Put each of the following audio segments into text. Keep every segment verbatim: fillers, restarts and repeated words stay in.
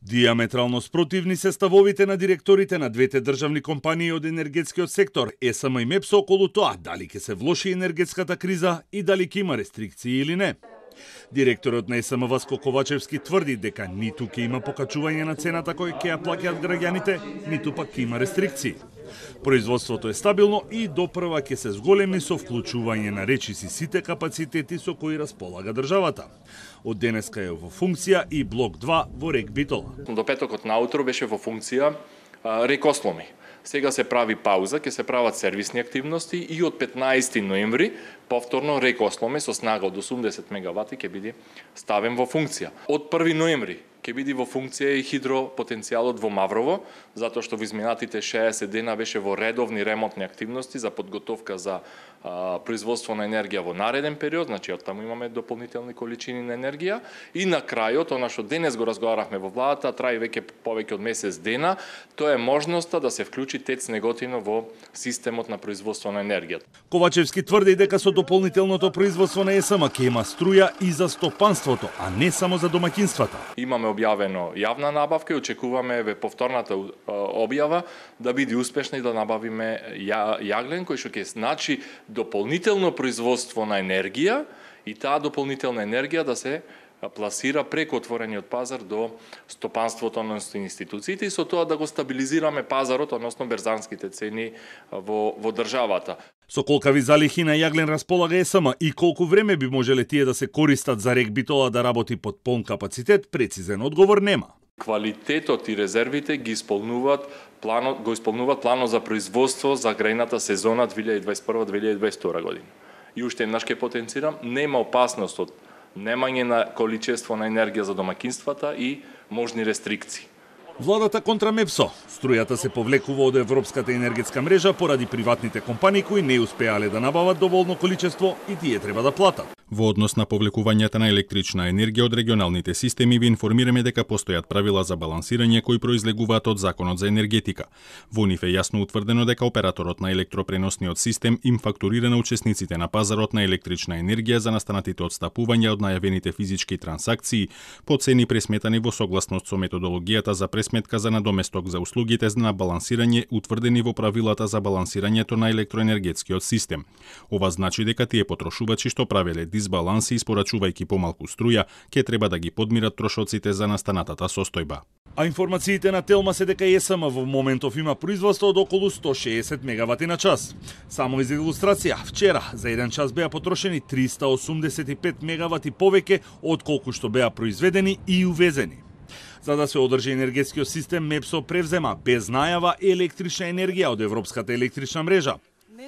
Диаметрално спротивни се ставовите на директорите на двете државни компании од енергетскиот сектор, ЕСМ и МЕПСО, околу тоа дали ќе се влоши енергетската криза и дали ќе има рестрикции или не. Директорот на ЕСМ Васко Ковачевски тврди дека ниту ќе има покачување на цената кој ќе ја плаќаат граѓаните, ниту пак ќе има рестрикции. Производството е стабилно и допрва ќе се зголеми со вклучување на речиси сите капацитети со кои располага државата. Од денеска е во функција и блок два во Рек Битола. До петокот наутро беше во функција Рек Осломи. Сега се прави пауза, ќе се прават сервисни активности и од петнаесети ноември повторно Рек Осломи со снага од осумдесет мегавати ќе биде ставен во функција. Од први ноември ќе биде во функција и хидропотенцијалот во Маврово, затоа што во изминатите шеесет дена беше во редовни ремонтни активности за подготовка за а, производство на енергија во нареден период, значи од таму имаме дополнителни количини на енергија и на крајот, она што денес го разговаравме во владата, траи веќе повеќе од месец дена, тоа е можноста да се вклучи ТЕЦ Неготино во системот на производство на енергија. Ковачевски тврди дека со дополнителното производство на ЕСМ ќе има струја и за стопанството, а не само за домаќинствата. Имаме објавено јавна набавка и очекуваме ве повторната објава да биде успешна и да набавиме јаглен кој што ќе значи дополнително производство на енергија и таа дополнителна енергија да се пласира преку отворениот пазар до стопанството, односно институциите и со тоа да го стабилизираме пазарот, односно берзанските цени во, во државата. Со колкави залихи на јаглен располага ЕСМ и колку време би можеле тие да се користат за Рек Битола да работи под полн капацитет, прецизен одговор нема. Квалитетот и резервите ги исполнуваат планот, го исполнуваат планот за производство за грејната сезона две илјади дваесет и прва - две илјади дваесет и втора година. И уште еднаш ќе потенцирам, нема опасност од немање на количество на енергија за домаќинствата и можни рестрикции. Владата контра МЕПСО. Струјата се повлекува од Европската енергетска мрежа поради приватните компании кои не успеале да набават доволно количество и тие треба да платат. Во однос на повлекувањето на електрична енергија од регионалните системи ви информираме дека постојат правила за балансирање кои произлегуваат од Законот за енергетика. Во нив е јасно утврдено дека операторот на електропреносниот систем им фактурира на учесниците на пазарот на електрична енергија за настанатите одстапувања од најавените физички трансакции по цени пресметани во согласност со методологијата за пресметка за надоместок за услугите на балансирање утврдени во правилата за балансирањето на електроенергетскиот систем. Ова значи дека тие потрошувачи што правеле дисбаланси испорачувајќи помалку струја, ќе треба да ги подмират трошоците за настанатата состојба. А информациите на Телма се дека ЕСМ во моментов има производство од околу сто шеесет мегавати на час. Само за илустрација, вчера за еден час беа потрошени триста осумдесет и пет мегавати повеќе од колку што беа произведени и увезени. За да се одржи енергетскиот систем, МЕПСО превзема без најава електрична енергија од Европската електрична мрежа.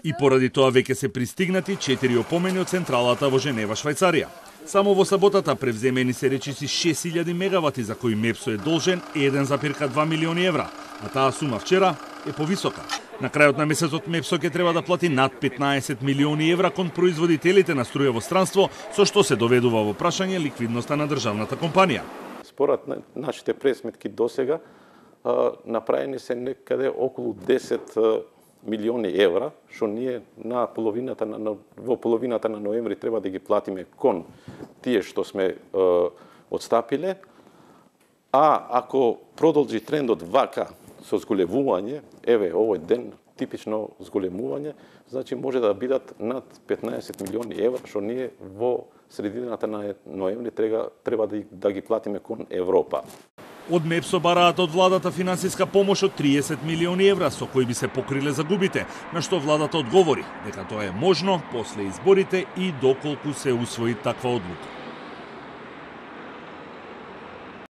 И поради тоа веќе се пристигнати четири опомени од централата во Женева, Швајцарија. Само во саботата превземени се речиси шест илјади мегавати за кои МЕПСО е должен еден запирка два милиони евра, а таа сума вчера е повисока. На крајот на месецот МЕПСО ќе треба да плати над петнаесет милиони евра кон производителите на струја во странство, со што се доведува во прашање ликвидноста на државната компанија. Според нашите пресметки досега направени се некаде околу десет милиони евра, што ние на половината на, во половината на ноември треба да ги платиме кон тие што сме е, отстапиле, а ако продолжи трендот вака со зголемување, еве овој ден типично зголемување, значи може да бидат над петнаесет милиони евра, што ние во средината на ноември треба, треба да, да ги платиме кон Европа. Од МЕПСО бараат од владата финансиска помош од триесет милиони евра со кои би се покриле загубите, на што владата одговори дека тоа е можно после изборите и доколку се усвои таква одлука.